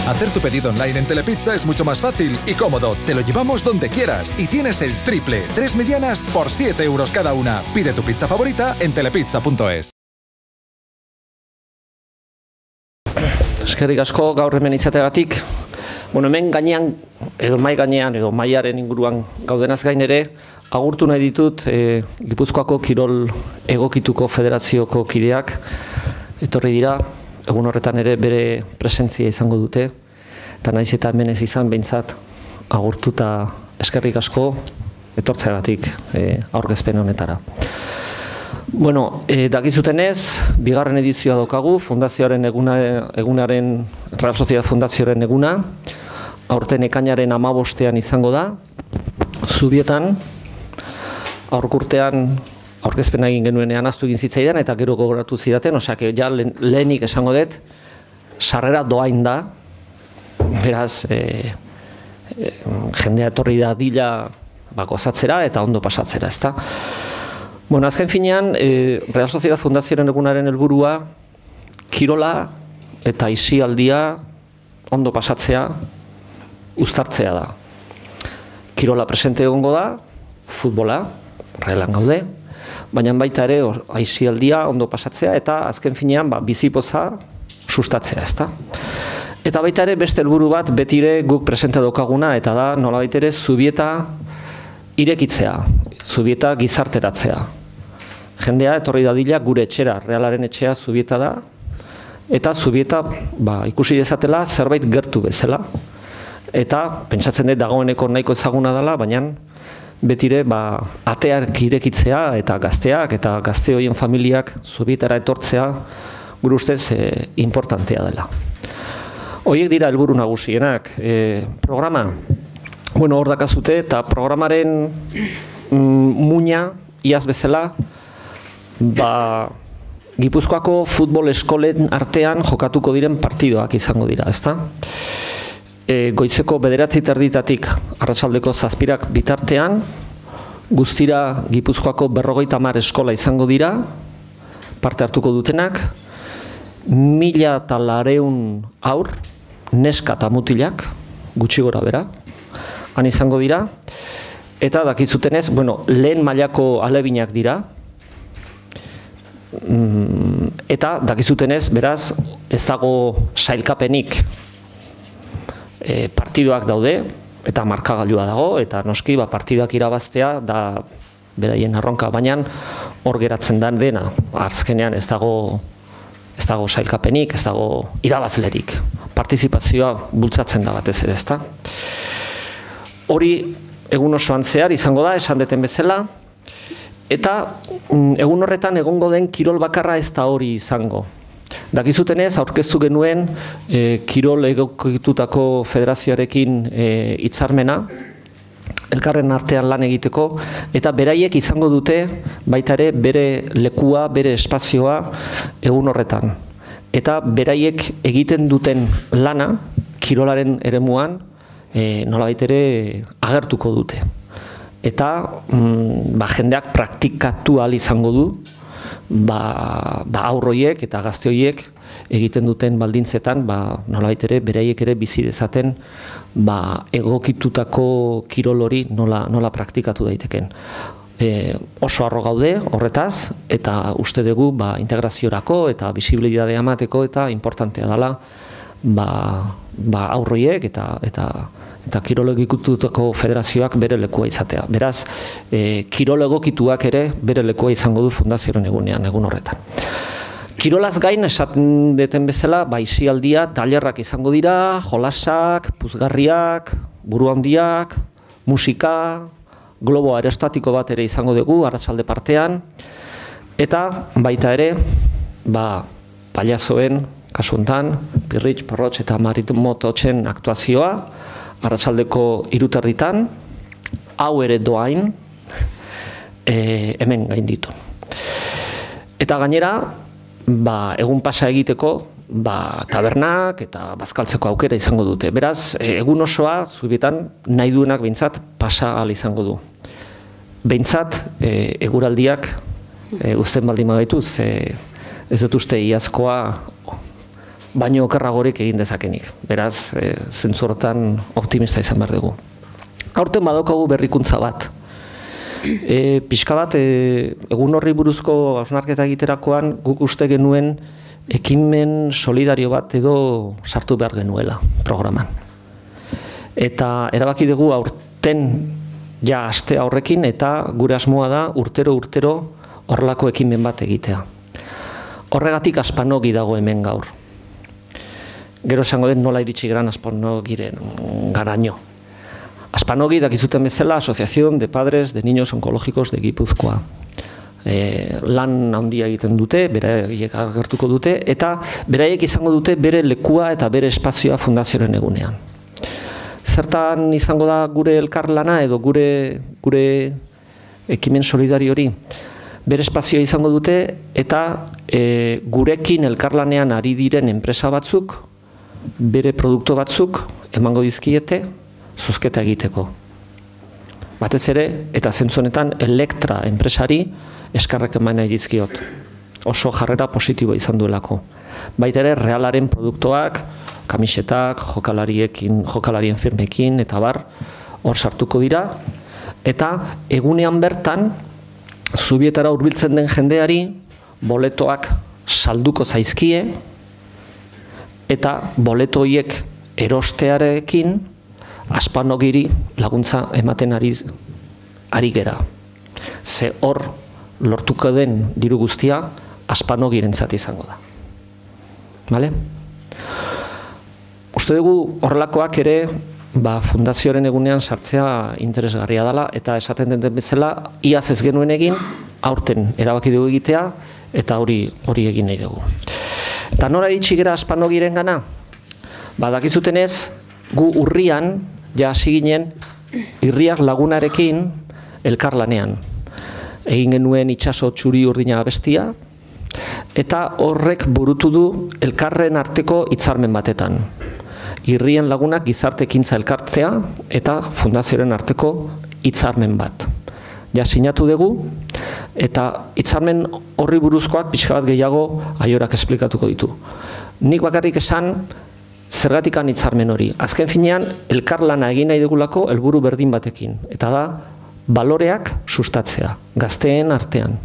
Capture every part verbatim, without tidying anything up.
Hacer tu pedido online en Telepizza es mucho más fácil y cómodo. Te lo llevamos donde quieras y tienes el triple. Tres medianas por siete euros cada una. Pide tu pizza favorita en telepizza punto es. Eskerrik asko gaur hemen izateagatik. Bueno, hemen gainean, edo mai gainean, edo maiaren inguruan gaudenaz gain ere, agurtu nahi ditut e, Gipuzkoako Kirol Egokituko Federazioko kideak etorri dira. Egun horretan ere bere presentzia izango dute, eta naiz eta hemen ez izan behintzat agurtu eta eskerrik asko etortzeagatik e, aurkezpen honetara. Bueno, e, dakizutenez, bigarren edizioa daukagu, fundazioaren eguna, egunaren, Real Sociedad Fundazioaren eguna, aurten ekainaren hamabostean izango da, Zubietan, aurkurtean aurkezpena egin genuenean ahaztu egin zitzaidan eta gero gogoratu zidaten, osea, ja lehenik esango dut, sarrera doain da, beraz, e, e, jendea etorri da dila ba, gozatzera eta ondo pasatzera, ezta? Bueno, azken finean, e, Real Sociedad Fundazioaren egunaren helburua kirola eta aisialdia ondo pasatzea, uztartzea da. Kirola presente egongo da, futbola, Realan gaude, baina baita ere aisialdia ondo pasatzea eta azken finean ba, bizipoza sustatzea, ezta? Eta baita ere beste helburu bat betire guk presente daukaguna eta da nolabait ere Zubieta irekitzea, Zubieta gizarteratzea. Jendea etorri dadila gure etxera, Realaren etxea Zubieta da, eta Zubieta ba, ikusi dezatela zerbait gertu bezala. Eta pentsatzen dut dagoeneko nahiko ezaguna dela, baina betire ba, ateak irekitzea eta gazteak eta gazte horien familiak Zubietara etortzea gure ustez e, importantea dela. Horiek dira helburu nagusienak. E, programa, bueno, hor dakazute eta programaren mm, muina, iaz bezala, ba, Gipuzkoako futbol eskolen artean jokatuko diren partidoak izango dira, ezta? E, goizeko bederatzi terditatik arratsaldeko zazpirak bitartean, guztira Gipuzkoako berrogeita hamar eskola izango dira, parte hartuko dutenak, mila eta lareun aur, neska eta mutilak, gutxi gora bera, han izango dira, eta dakizutenez, bueno, lehen mailako alebinak dira, eta dakizutenez, beraz, ez dago sailkapenik, E, partidoak daude, eta markagailua dago, eta noski ba, partidak irabaztea da beraien arronka, baina hor geratzen da dena, azkenean ez dago, ez dago sailkapenik, ez dago irabazlerik. Partizipazioa bultzatzen da batez ere, ezta? Hori egun osoan zehar izango da, esan deten bezala, eta egun horretan egongo den kirol bakarra ez da hori izango. Dakizutenez, aurkeztu genuen e, Kirol Egokitutako Federazioarekin hitzarmena, e, elkarren artean lan egiteko, eta beraiek izango dute baita ere bere lekua, bere espazioa egun horretan. Eta beraiek egiten duten lana, kirolaren eremuan, e, nolabait ere agertuko dute. Eta mm, ba, jendeak praktikatu ahal izango du, ba, ba aurroiek eta gazte horiek egiten duten baldintzetan, ba, nolabait ere beraiek ere bizi dezaten ba, egokitutako kirol hori nola, nola praktikatu daiteken. E, oso harro gaude horretaz, eta uste dugu ba, integraziorako eta bisibilitatea emateko eta importantea dela ba, ba, aurroiek eta, eta eta kirol egokitutako federazioak bere lekua izatea. Beraz, e, kirol egokituak ere bere lekua izango du fundazioaren egunean, egun horretan. Kirolaz gain, esaten deten bezala, ba, aisialdia, tailerrak izango dira, jolasak, puzgarriak, buru handiak, musika, globo aerostatiko bat ere izango dugu, arratsalde partean, eta baita ere, ba, paliazoen, kasu hontan, Pirritx, Porrotx eta Maritmototxen aktuazioa, arratsaldeko hiruterditan, hau ere doain, e, hemen gainditu. Eta gainera, ba, egun pasa egiteko, ba, tabernak eta bazkaltzeko aukera izango dute. Beraz, egun osoa, Zubietan, nahi duenak behintzat pasa ahal izango du. Behintzat, e, eguraldiak, e, uzten baldin bagaituz, e, ez dut uste iazkoa baino okerragorik egin dezakenik. Beraz, e, zentzortan optimista izan behar dugu. Aurten badaukagu berrikuntza bat. E, pixka bat, e, egun horri buruzko hausnarketa egiterakoan guk uste genuen ekimen solidario bat edo sartu behar genuela programan. Eta erabaki dugu aurten ja aste horrekin eta gure asmoa da urtero-urtero horrelako ekimen bat egitea. Horregatik Aspanogi dago hemen gaur. Gero esango den nola iritsi geran Aspanogiren garaino. Aspanogi dakizuten bezala Asociación de Padres de Niños Onkologikos de Gipuzkoa. E, lan handia egiten dute, beraiek agertuko dute, eta beraiek izango dute bere lekua eta bere espazioa fundazioaren egunean. Zertan izango da gure elkarlana edo gure, gure ekimen solidario hori? Bere espazioa izango dute eta e, gurekin elkarlanean ari diren enpresa batzuk, bere produktu batzuk emango dizkiete zozketa egiteko. Batez ere, eta zentzu honetan Elektra enpresari eskarrek eman nahi dizkiot. Oso jarrera positiboa izan duelako. Baita ere, Realaren produktuak, kamisetak, jokalariekin, jokalarien firmekin, eta bar, hor sartuko dira. Eta egunean bertan, Zubietara hurbiltzen den jendeari, boletoak salduko zaizkie, eta boleto horiek erostearekin, Aspanogiri laguntza ematen ari, ari gera. Ze hor lortuko den diru guztia Aspanogirentzat izango da. Bale? Uste dugu horrelakoak ere ba, fundazioaren egunean sartzea interesgarria dela eta esaten den bezala iaz ez genuen egin, aurten erabaki dugu egitea eta hori hori egin nahi dugu. Eta nora iritsi gera Aspanogiren gana? Ba, dakizutenez, gu urrian, ja hasi ginen, Irriak Lagunarekin elkarlanean. Egin genuen itsaso txuri urdina abestia, eta horrek burutu du elkarren arteko hitzarmen batetan. Irrien Lagunak gizarte ekintza elkartzea eta fundazioaren arteko hitzarmen bat. Ja sinatu dugu, eta hitzarmen horri buruzkoak pixka bat gehiago Aiorak esplikatuko ditu. Nik bakarrik esan, zergatikan hitzarmen hori. Azken finean, elkarlana egin nahi dugulako helburu berdin batekin. Eta da, baloreak sustatzea, gazteen artean.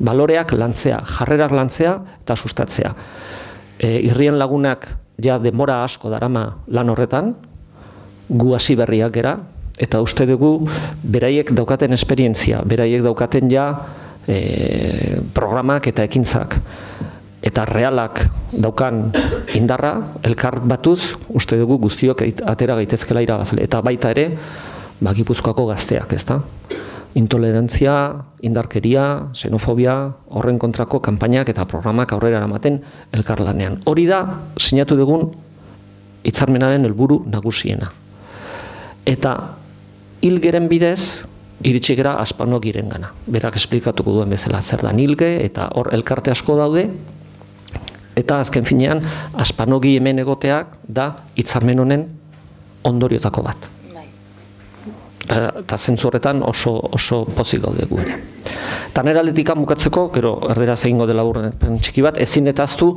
Baloreak lantzea, jarrerak lantzea eta sustatzea. E, Irrien Lagunak ja denbora asko darama lan horretan, gu hasi berriak gera, eta uste dugu beraiek daukaten esperientzia, beraiek daukaten ja e, programak eta ekintzak. Eta Realak daukan indarra, elkar batuz, uste dugu guztiok atera gaitezkela irabazle. Eta baita ere, ba, Gipuzkoako gazteak, ezta? Intolerantzia, indarkeria, xenofobia, horren kontrako kanpainak eta programak aurrera eramaten elkarlanean. Hori da, sinatu dugun hitzarmenaren helburu nagusiena. Eta hilgeren bidez, iritsi gera Aspanogiren gana. Berak esplikatuko duen bezala zer da hilge, eta hor elkarte asko daude, eta azken finean, Aspanogi hemen egoteak da hitzarmen honen ondoriotako bat. Eta zentzu horretan oso, oso pozik gaude gure. Eta nire aldetikan bukatzeko, gero erderaz egingo dela burren txiki bat, ezin etaztu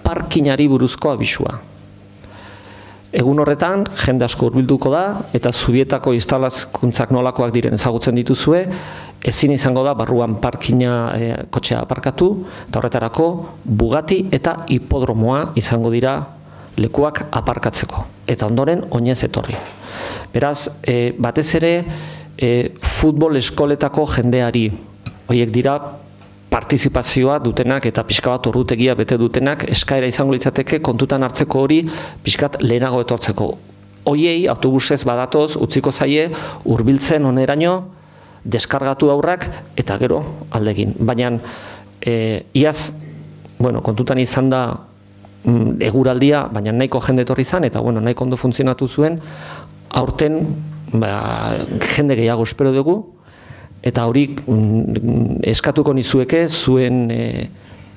parkinari buruzko abisua. Egun horretan, jende asko hurbilduko da, eta Zubietako instalazkuntzak nolakoak diren ezagutzen dituzue, ezin izango da barruan parkina e, kotxea aparkatu, eta horretarako Bugatti eta hipodromoa izango dira lekuak aparkatzeko. Eta ondoren, oinez etorri. Beraz, e, batez ere, e, futbol eskoletako jendeari, horiek dira partizipazioa dutenak eta pixka bat ordutegia bete dutenak, eskaera izango litzateke kontutan hartzeko hori pixkat lehenago etortzeko. Hoiei autobusez badatoz, utziko zaie, hurbiltzen oneraino, deskargatu aurrak eta gero aldegin. Baina, e, iaz, bueno, kontutan izan da mm, eguraldia, baina nahiko jende etorri izan, eta bueno, nahiko ondo funtzionatu zuen, aurten ba, jende gehiago espero dugu, eta hori mm, eskatuko nizueke zuen e,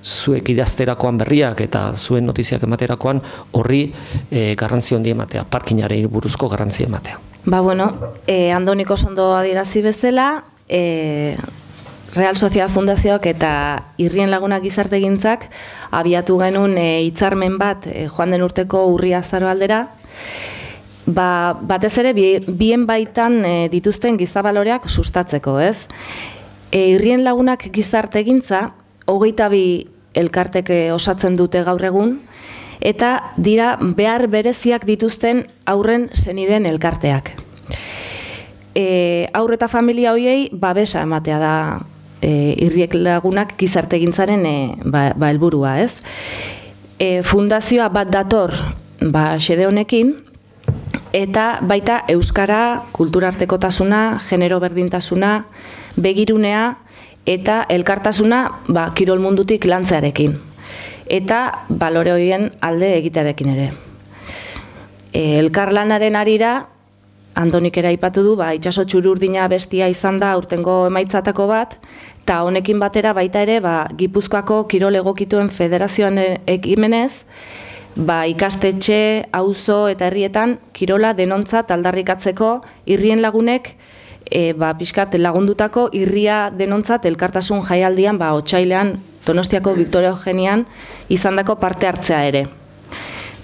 zuek idazterakoan berriak eta zuen notiziak ematerakoan horri e, garrantzi handi ematea, parkinari buruzko garrantzi ematea. Ba, bueno, e, Andoniko ondo adierazi bezala, e, Real Sociedad Fundazioak eta Irrien Lagunak Gizartegintzak abiatu genuen hitzarmen bat joan den urteko urria azaro aldera, ba, batez ere bien baitan dituzten gizabaloreak sustatzeko, ez? E, Irrien Lagunak Gizartegintza hogeita bi elkartek osatzen dute gaur egun, eta dira behar bereziak dituzten haurren senideen elkarteak. E, haur eta familia hoiei babesa ematea da e, Irrien Lagunak Gizartegintzaren e, ba, ba helburua, ez? E, fundazioa bat dator ba xede honekin, eta baita euskara, kulturartekotasuna, genero berdintasuna, begirunea eta elkartasuna ba, kirol mundutik lantzearekin. Eta balore horien alde egitearekin ere. E, elkarlanaren arira, Andonik ere aipatu du, ba, itxaso txururdina bestia izan da aurtengo emaitzatako bat, eta honekin batera baita ere ba, Gipuzkoako kirol egokituen federazioan ekimenez, ba, ikastetxe, auzo eta herrietan kirola denontzat aldarrikatzeko Irrien Lagunek e, ba, pixkat lagundutako irria denontzat elkartasun jaialdian ba, otsailean Donostiako Victoria Eugenian izandako parte hartzea ere.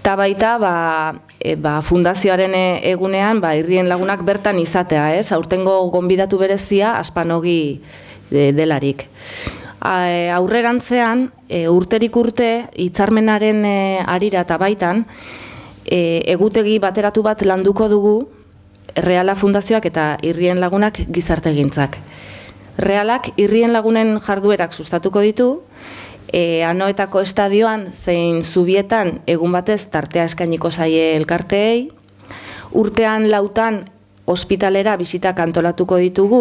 Eta baita ba, e, ba, fundazioaren egunean ba, Irrien Lagunak bertan izatea, ez? Aurtengo gonbidatu berezia Aspanogi de, delarik. A, aurrerantzean, e, urterik urte, hitzarmenaren e, arira eta baitan, e, egutegi bateratu bat landuko dugu Reala Fundazioak eta Irrien Lagunak Gizartegintzak. Realak Irrien Lagunen jarduerak sustatuko ditu, E, Anoetako estadioan zein zubietan egun batez tartea eskainiko zaie elkarteei, urtean lautan ospitalera bisitak antolatuko ditugu,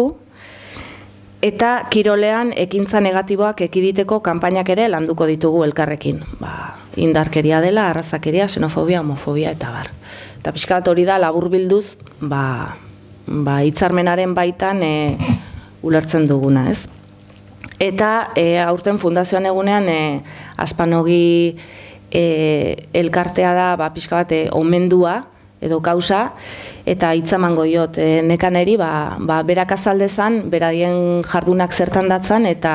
eta kirolean ekintza negatiboak ekiditeko kanpainak ere landuko ditugu elkarrekin. Ba, indarkeria dela, arrazakeria, xenofobia, homofobia eta bar. Eta pixkat hori da laburbilduz ba, ba, hitzarmenaren baitan e, ulertzen duguna, ez? Eta e, aurten fundazioan egunean e, Aspanogi e, elkartea da ba, pixka bat e, omendua edo kausa, eta hitzamango diot e, nekaneri ba, ba, berak azaldezan, beraien jardunak zertan datzan, eta,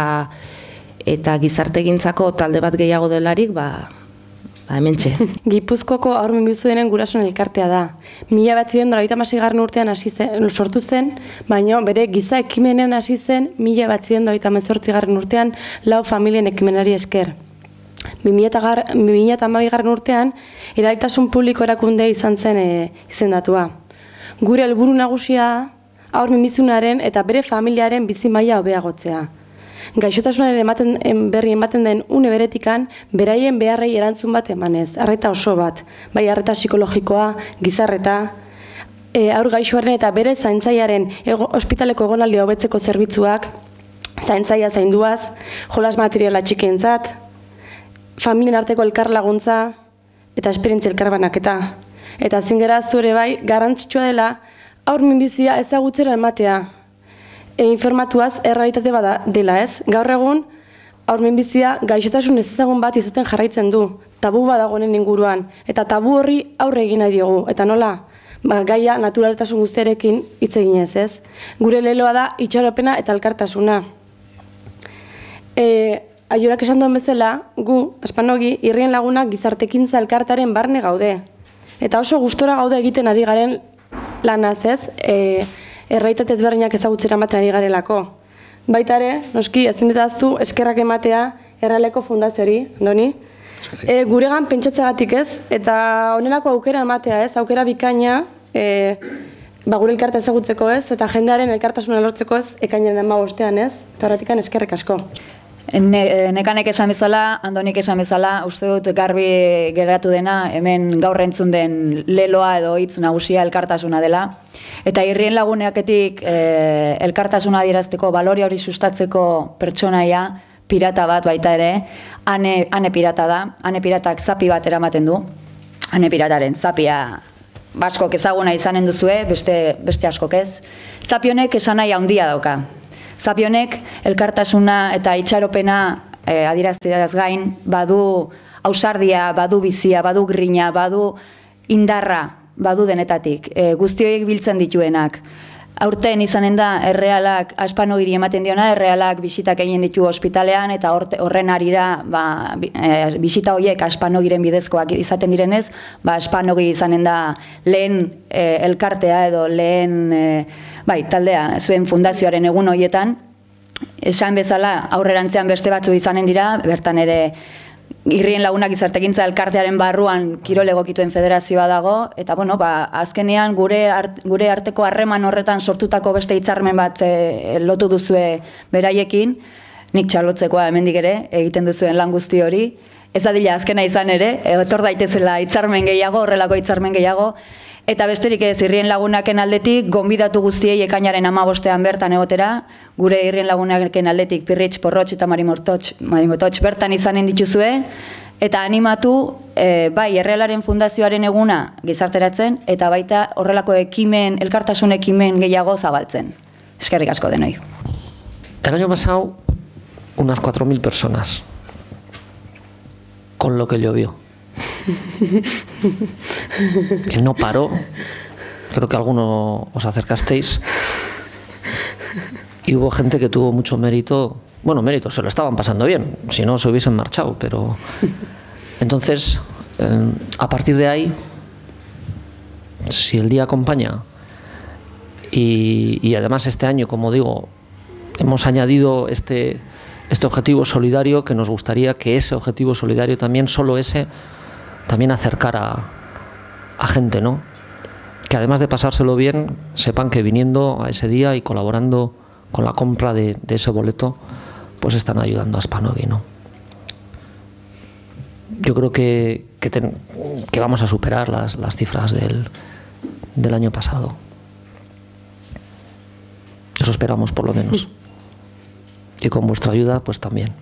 eta Gizartegintzako talde bat gehiago delarik, ba, ba hementxe. Gipuzkoko haur minbizuenen gurasoen elkartea da. Mila batziren dola hamaseigarren urtean hasi zen, sortu zen, baina bere giza ekimenen hasi zen mila batziren dola hemezortzigarren urtean lau familien ekimenari esker. bi mila hamabigarren urtean eragitasun publiko erakunde izan zen e, izendatua. Gure helburu nagusia haur minbizunaren eta bere familiaren bizi maila hobeagotzea. Gaixotasunaren ematen, berri ematen den une beretikan, beraien beharrei erantzun bat emanez, arreta oso bat, bai arreta psikologikoa, gizarreta, e, haur gaixoaren eta bere zaintzaiaren ego, ospitaleko egonaldia hobetzeko zerbitzuak, zaintzaia zainduaz, jolas materiala txikientzat, familien arteko elkar laguntza eta esperientzia elkarbanaketa. Eta zingera zure bai, garrantzitsua dela, haur minbizia ezagutzera ematea. E, informatuaz errealitate bada dela, ez? Gaur egun, haur minbizia gaixotasun ezezagun bat izaten jarraitzen du, tabu badagoen inguruan, eta tabu horri aurre egin nahi diogu, eta nola? Ba, gaia naturaltasun guztiarekin hitz eginez, ez? Gure leloa da itxaropena eta elkartasuna. E, Aiorak esan duen bezala, gu, Aspanogi, Irrien Lagunak Gizartekintza elkartaren barne gaude. Eta oso gustora gaude egiten ari garen lanaz, ez? E, erraitate ezberdinak ezagutzera ematen ari garelako. Baita ere, noski, ezin dezaztu eskerrak ematea Errealeko Fundaziori, Andoni? E, guregan pentsatzeagatik, ez? Eta honelako aukera ematea, ez? Aukera bikaina, e, ba, gure elkarta ezagutzeko, ez? Eta jendearen elkartasuna lortzeko, ez? Ekainaren hamabostean, ez? Eta horretikan eskerrek asko. Ne, nekanek esan bezala, Andonik esan bezala, uste dut garbi geratu dena, hemen gaur entzun den leloa edo hitz nagusia elkartasuna dela. Eta Irrien Laguneketik e, elkartasuna adierazteko, balore hori sustatzeko pertsonaia, pirata bat baita ere, ane, ane pirata da, ane piratak zapi bat eramaten du, ane pirataren zapia baskok ezaguna izanen duzue, beste, beste askok ez. Zapi honek esan nahi handia dauka. Zapi honek elkartasuna eta itxaropena e, adierazteaz gain, badu ausardia, badu bizia, badu grina, badu indarra, badu denetatik, e, guztioik biltzen dituenak. Aurten izanen da errealak Aspanogiri ematen diona, errealak bisitak egin ditu ospitalean eta horren arira ba, e, bisita horiek Aspanogiren bidezkoak izaten direnez, ba, Aspanogi izanen da lehen e, elkartea edo lehen e, bai, taldea zuen fundazioaren egun horietan. Esan bezala aurrerantzean beste batzu izanen dira, bertan ere Irrien Lagunak Gizartekintza elkartearen barruan kirol egokituen federazioa dago, eta bueno, ba, azkenean gure, art, gure arteko harreman horretan sortutako beste hitzarmen bat e, lotu duzue beraiekin, nik txalotzekoa hemendik ere, egiten duzuen lan guzti hori, ez dadila azkena izan ere, etor daitezela hitzarmen gehiago, horrelako hitzarmen gehiago, eta besterik ez Irrien Lagunaken aldetik, gonbidatu guztiei ekainaren hamabostean bertan egotera, gure Irrien Lagunaken aldetik Pirritx, Porrotx eta Marimototx, Marimototx bertan izanen dituzue, eta animatu e, bai Errealaren Fundazioaren eguna gizarteratzen, eta baita horrelako ekimen, elkartasun ekimen gehiago zabaltzen. Eskerrik asko denoi. El año pasado, unas cuatro mil personas, con lo que llovió. Que no paró. Creo que alguno os acercasteis y hubo gente que tuvo mucho mérito. Bueno, mérito, se lo estaban pasando bien, si no se hubiesen marchado, pero entonces eh, a partir de ahí, si el día acompaña y, y además este año, como digo, hemos añadido este, este objetivo solidario, que nos gustaría que ese objetivo solidario también, solo ese, también acercar a, a gente, ¿no? Que además de pasárselo bien, sepan que viniendo a ese día y colaborando con la compra de, de ese boleto, pues están ayudando a Aspanogi, ¿no? Yo creo que, que, ten, que vamos a superar las, las cifras del, del año pasado. Eso esperamos, por lo menos. Y con vuestra ayuda, pues también.